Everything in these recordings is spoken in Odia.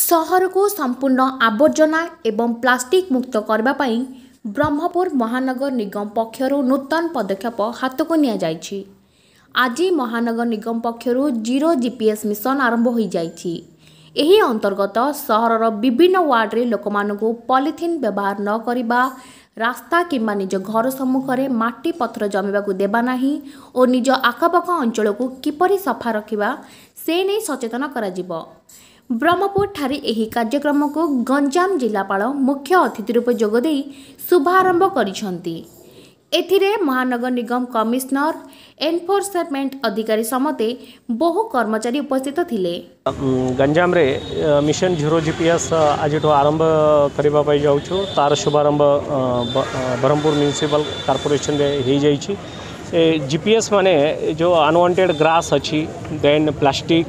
ସହରକୁ ସମ୍ପୂର୍ଣ୍ଣ ଆବର୍ଜନା ଏବଂ ପ୍ଲାଷ୍ଟିକ୍ ମୁକ୍ତ କରିବା ପାଇଁ ବ୍ରହ୍ମପୁର ମହାନଗର ନିଗମ ପକ୍ଷରୁ ନୂତନ ପଦକ୍ଷେପ ହାତକୁ ନିଆଯାଇଛି। ଆଜି ମହାନଗର ନିଗମ ପକ୍ଷରୁ ଜିରୋ ଜିପିଏସ୍ ମିଶନ ଆରମ୍ଭ ହୋଇଯାଇଛି। ଏହି ଅନ୍ତର୍ଗତ ସହରର ବିଭିନ୍ନ ୱାର୍ଡରେ ଲୋକମାନଙ୍କୁ ପଲିଥିନ୍ ବ୍ୟବହାର ନ କରିବା, ରାସ୍ତା କିମ୍ବା ନିଜ ଘର ସମ୍ମୁଖରେ ମାଟି ପଥର ଜମିବାକୁ ଦେବା ନାହିଁ ଓ ନିଜ ଆଖପାଖ ଅଞ୍ଚଳକୁ କିପରି ସଫା ରଖିବା ସେ ନେଇ ସଚେତନ କରାଯିବ। ବ୍ରହ୍ମପୁରଠାରେ ଏହି କାର୍ଯ୍ୟକ୍ରମକୁ ଗଞ୍ଜାମ ଜିଲ୍ଲାପାଳ ମୁଖ୍ୟ ଅତିଥି ରୂପେ ଯୋଗଦେଇ ଶୁଭାରମ୍ଭ କରିଛନ୍ତି। ଏଥିରେ ମହାନଗର ନିଗମ କମିଶନର, ଏନଫୋର୍ସମେଣ୍ଟ ଅଧିକାରୀ ସମେତ ବହୁ କର୍ମଚାରୀ ଉପସ୍ଥିତ ଥିଲେ। ଗଞ୍ଜାମରେ ମିଶନ ଜିରୋ ଜିପିଏସ୍ ଆଜିଠୁ ଆରମ୍ଭ କରିବା ପାଇଁ ଯାଉଛୁ। ତାର ଶୁଭାରମ୍ଭ ବ୍ରହ୍ମପୁର ମ୍ୟୁନିସିପାଲ କର୍ପୋରେସନରେ ହେଇଯାଇଛି। ଏ ଜିପିଏସ୍ ମାନେ ଯେଉଁ ଅନୱାଣ୍ଟେଡ଼ ଗ୍ରାସ୍ ଅଛି, then plastic,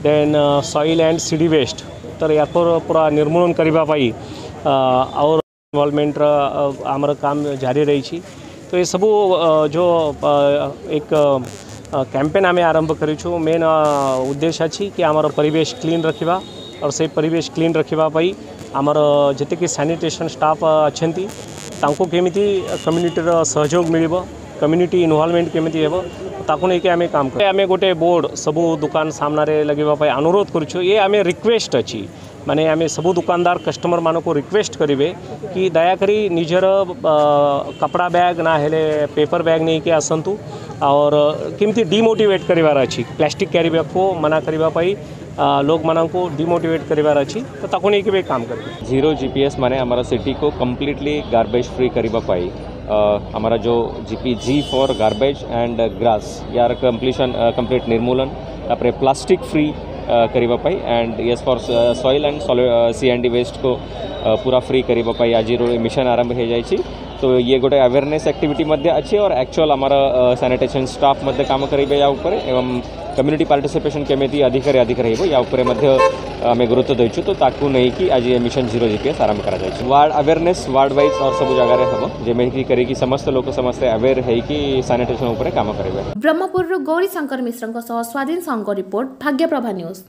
then soil and CD waste, ତ ୟାକୁ ପୁରା ନିର୍ମୂଳନ କରିବା ପାଇଁ ଆଉ ଇନଭଲଭମେଣ୍ଟର ଆମର କାମ ଜାରି ରହିଛି। ତ ଏସବୁ ଯେଉଁ ଏକ କ୍ୟାମ୍ପେନ୍ ଆମେ ଆରମ୍ଭ କରିଛୁ, ମେନ୍ ଉଦ୍ଦେଶ୍ୟ ଅଛି କି ଆମର ପରିବେଶ କ୍ଲିନ୍ ରଖିବା। ଆଉ ସେଇ ପରିବେଶ କ୍ଲିନ୍ ରଖିବା ପାଇଁ ଆମର ଯେତିକି ସାନିଟେସନ୍ ଷ୍ଟାଫ୍ ଅଛନ୍ତି, ତାଙ୍କୁ କେମିତି କମ୍ୟୁନିଟିର ସହଯୋଗ ମିଳିବ, କମ୍ୟୁନିଟି ଇନଭଲଭମେଣ୍ଟ କେମିତି ହେବ, ତାକୁ ନେଇକି ଆମେ କାମ କରୁ। ଆମେ ଗୋଟେ ବୋର୍ଡ଼ ସବୁ ଦୋକାନ ସାମ୍ନାରେ ଲଗାଇବା ପାଇଁ ଅନୁରୋଧ କରୁଛୁ। ଏ ଆମେ ରିକ୍ୱେଷ୍ଟ ଅଛି, ମାନେ ଆମେ ସବୁ ଦୋକାନଦାର କଷ୍ଟମରମାନଙ୍କୁ ରିକ୍ୱେଷ୍ଟ କରିବେ କି ଦୟାକରି ନିଜର କପଡ଼ା ବ୍ୟାଗ୍ ନା ହେଲେ ପେପର ବ୍ୟାଗ୍ ନେଇକି ଆସନ୍ତୁ। और କେମିତି ଡିମୋଟିଭେଟ୍ କରିବାର ଅଛି, ପ୍ଲାଷ୍ଟିକ୍ କ୍ୟାରି ବ୍ୟାଗ୍କୁ ମନା କରିବା ପାଇଁ ଲୋକମାନଙ୍କୁ ଡିମୋଟିଭେଟ୍ କରିବାର ଅଛି, ତ ତାକୁ ନେଇକି ବି କାମ କରିବେ। ଜିରୋ ଜିପିଏସ୍ ମାନେ ଆମର ସିଟିକୁ କମ୍ପ୍ଲିଟଲି ଗାର୍ବେଜ୍ ଫ୍ରି କରିବା ପାଇଁ ଆମର ଯେଉଁ GP, G for garbage and grass, ୟାର କମ୍ପ୍ଲିସନ୍, କମ୍ପ୍ଲିଟ୍ ନିର୍ମୂଳନ, ତାପରେ ପ୍ଲାଷ୍ଟିକ୍ ଫ୍ରି କରିବା ପାଇଁ and S for soil and C and D ୱେଷ୍ଟକୁ ପୁରା ଫ୍ରି କରିବା ପାଇଁ ଆଜିର ମିଶନ ଆରମ୍ଭ ହୋଇଯାଇଛି। ତ ଇଏ ଗୋଟେ ଆୱେରନେସ୍ ଆକ୍ଟିଭିଟି ମଧ୍ୟ ଅଛି और ଆକ୍ଚୁଆଲ୍ ଆମର ସାନିଟେସନ୍ ଷ୍ଟାଫ୍ ମଧ୍ୟ କାମ କରିବେ ୟା ଉପରେ ଏବଂ କମ୍ୟୁନିଟି ପାର୍ଟିସିପେସନ୍ କେମିତି ଅଧିକରେ ଅଧିକ ରହିବ, ୟା ଉପରେ ମଧ୍ୟ ଆମେ ଗୁରୁତ୍ୱ ଦେଇଛୁ। ତ ତାକୁ ନେଇକି ଆଜି ଏ ମିଶନ ଜିରୋ ଜିପିଏସ୍ ଆରମ୍ଭ କରାଯାଇଛି। ୱାର୍ଡ଼ ଆୱେରନେସ୍ ୱାର୍ଡ଼ ୱାଇଜ୍ और ସବୁ ଜାଗାରେ ହେବ, ଯେମିତି କରିକି ସମସ୍ତ ଲୋକ ସମସ୍ତେ ଆୱେର୍ ହେଇକି ସାନିଟେସନ୍ ଉପରେ କାମ କରିବେ। ବ୍ରହ୍ମପୁରରୁ ଗୌରୀ ଶଙ୍କର ମିଶ୍ରଙ୍କ ସହ ସ୍ୱାଧୀନ ସାହୁଙ୍କ ରିପୋର୍ଟ, ଭାଗ୍ୟପ୍ରଭା ନ୍ୟୁଜ୍।